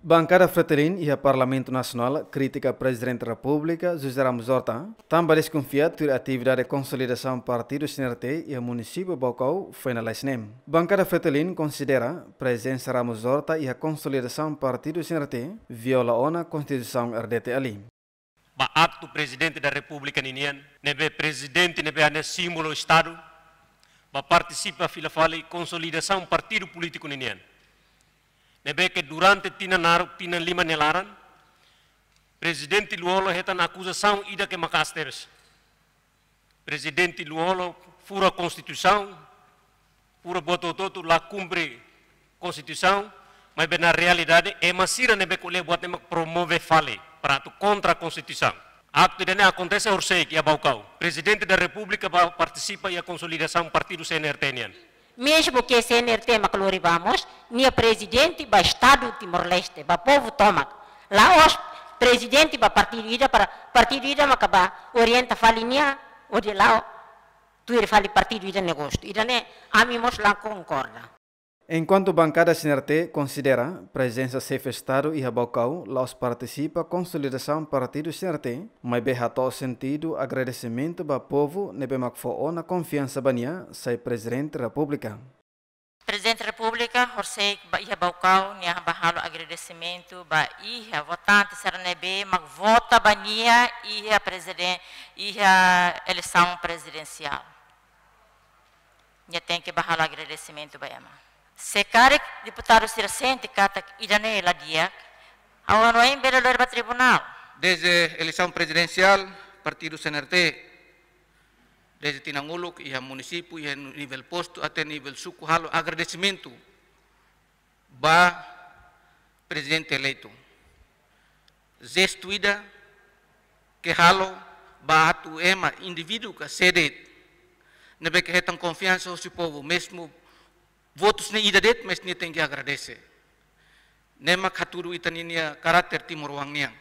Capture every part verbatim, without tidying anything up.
Bankada Fretilin iha Parlamentu Nasionál kritika Prezidente Repúblika José Ramos Horta, tanba deskonfia tuir atividade konsolidasaun partidu C N R T iha munisípiu Baucau foin lalais ne'e. Bankada Fretilin konsidera prezensa Ramos Horta iha konsolidasaun partidu C N R T viola ona Konstituisaun R D T L. Ba aktu Prezidente da Repúblika ninian, ne'ebé Prezidente ne'ebé hanesan símbolu Estadu, ba partisipa fila fali konsolidasaun partidu polítiku ninian. Ne'ebé ke durante tinan naruk, tinan lima nia laran, Prezidente Lú-Olo hetan akuzasaun ida ke maka'as tebes. Prezidente Lú-Olo fura Konstituisaun, fura buat hotu-hotu, la kumpre Konstituisaun, maibé na realidade ema sira ne'ebé ko'alia buat ne'e mak promove fali para atu kontra Konstituisaun. Aktu ida-ne'e akontese horisehik iha Baucau. Prezidente da Repúblika ba partisipa iha konsolidasaun partidu C N R T nian. Mezmu ke C N R T mak lori ba mós, nia prezidente ba Estadu Timor-Leste, ba povu tomak. La'ós prezidente ba partidu ida para partidu ida maka ba orienta fali nia, hodi la'o tuir fali partidu ida nia gostu. Ida-ne'e ami mós la konkorda. Enkuantu bankada C N R T konsidera prezensa xefe Estadu iha Baucau la'ós partisipa konsolidasaun partidu C N R T, maibé hato'o sentidu agradesimentu ba povu ne'ebé mak fó ona konfiansa ba nia sai Prezidente Repúblika. Prezidente Repúblika horisehik ba iha Baucau, nia bá halo agradesimentu ba iha votante sira ne'ebé mak vota ba nia iha preziden-, iha eleisaun prezidensiál. Nia tenke bá halo agradesimentu ba ema. Se karik deputadu sira sente katak ida-ne'e la di'ak, ha'u hanoin bele lori ba tribunál. Desde eleisaun prezidensiál, partidu C N R T, desde tinan uluk, iha munisípiu, iha nivel postu, até nivel suku, halo agradesimentu ba prezidente eleitu. Jestu ida ke halo ba atu ema indivíduu ka sé de'it ne'ebé ke hetan konfiansa husi povu, mezmu votus ne'e ida de'it, mas nia tenke agradese. Ne'e mak hatudu ita-nia karáter timoroan nian.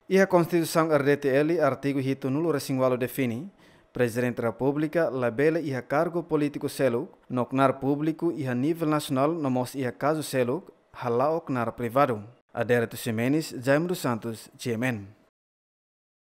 Iha Konstituisaun R D T L, artigu hitunulu-resin-ualu define, Prezidente Repúblika labele iha kargu polítiku seluk, no knaar públiku iha nivel nasionál no mós iha kazu seluk, hala'o knaar privadu. Adérito Ximenes, Jaime dos Santos, G M N.